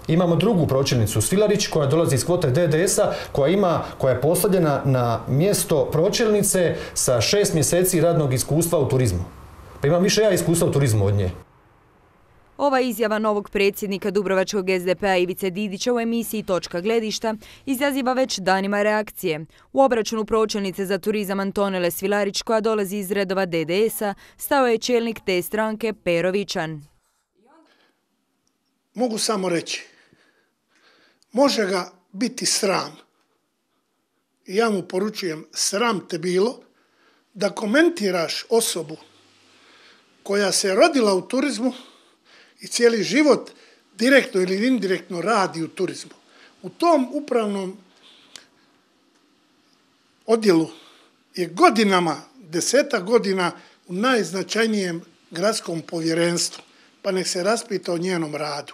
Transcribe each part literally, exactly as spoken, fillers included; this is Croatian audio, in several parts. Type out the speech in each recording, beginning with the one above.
Imamo drugu pročelnicu Svilarić koja dolazi iz kvote D D S-a, koja ima, koja je postavljena na mjesto pročelnice sa šest mjeseci radnog iskustva u turizmu. Pa imam više ja iskustva u turizmu od nje. Ova izjava novog predsjednika Dubrovačkog S D P-a Ivice Didića u emisiji Točka gledišta izaziva već danima reakcije. U obračunu pročelnice za turizam Antonele Svilarić, koja dolazi iz redova D D S-a, stao je čelnik te stranke Pero Vičan. Mogu samo reći, može ga biti sram. I ja mu poručujem, sram te bilo da komentiraš osobu koja se rodila u turizmu i cijeli život direktno ili indirektno radi u turizmu. U tom upravnom odjelu je godinama, deseta godina u najznačajnijem gradskom povjerenstvu, pa nek se raspita o njenom radu.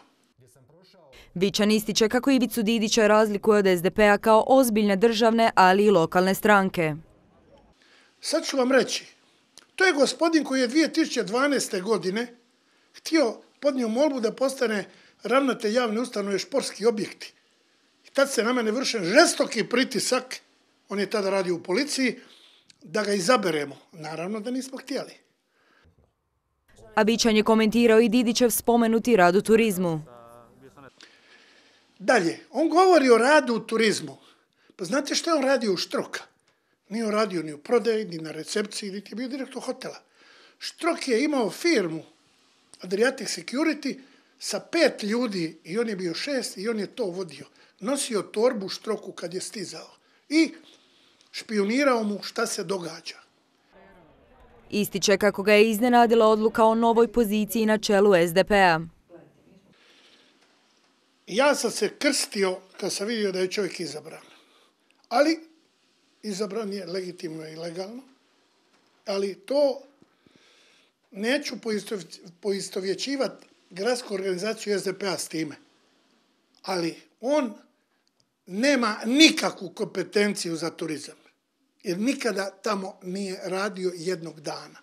Vičan ističe kako Ivicu Didića razlikuje od S D P-a kao ozbiljne državne, ali i lokalne stranke. Sad ću vam reći, to je gospodin koji je dvije tisuće dvanaeste. godine htio podnio molbu da postane ravnatelj javne ustanove športski objekti. I tad se na mene vršen žestoki pritisak, on je tada radio u policiji, da ga izaberemo. Naravno da nismo htjeli. A Vičan je komentirao i Didićev spomenuti rad u turizmu. Dalje, on govori o radu u turizmu. Pa znate što je on radio u Štroka? Nije on radio ni u prodaji, ni na recepciji, niti je bio direktor hotela. Štrok je imao firmu Adriatic Security sa pet ljudi i on je bio šest i on je to vodio. Nosio torbu Štroku kad je stizao i špionirao mu šta se događa. Ističe kako ga je iznenadila odluka o novoj poziciji na čelu S D P-a. Ja sam se krstio kad sam vidio da je čovjek izabran. Ali izabran je legitimno i legalno. Ali to neću poistovjećivati gradsku organizaciju S D P-a s time. Ali on nema nikakvu kompetenciju za turizam. Jer nikada tamo nije radio jednog dana.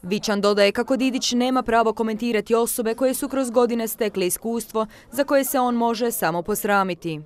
Vičan dodaje kako Didić nema pravo komentirati osobe koje su kroz godine stekle iskustvo za koje se on može samo posramiti.